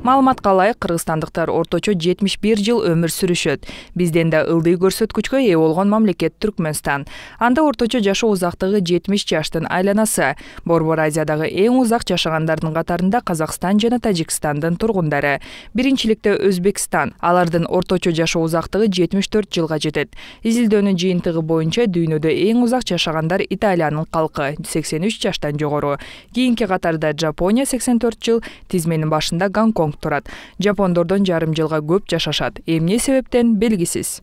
Маалыматка ылайык, кыргызстандыктар орточо 71 жыл өмүр сүрүшөт. Бизден да ылдый көрсөткүчкө ээ болгон мамлекет Түркмөнстан. Анда орточо жашоо узактыгы 70 жаштын айланасы. Борбор Азиядагы эң узак жашагандардын катарында Казакстан жана Тажикстандын тургундары. Биринчиликте Өзбекстан. Алардын орточо жашоо узактыгы 74 жылга жетет. Изилдөөнүн жыйынтыгы боюнча дүйнөдө эң узак жашагандар Италиянын калкы 83 жаштан жогору. Кийинки катарда Жапония 84 жыл, тизменин башында Гонконг турат. Жапондордон жарым жылга көп жашашат. Эмне себептен белгисиз.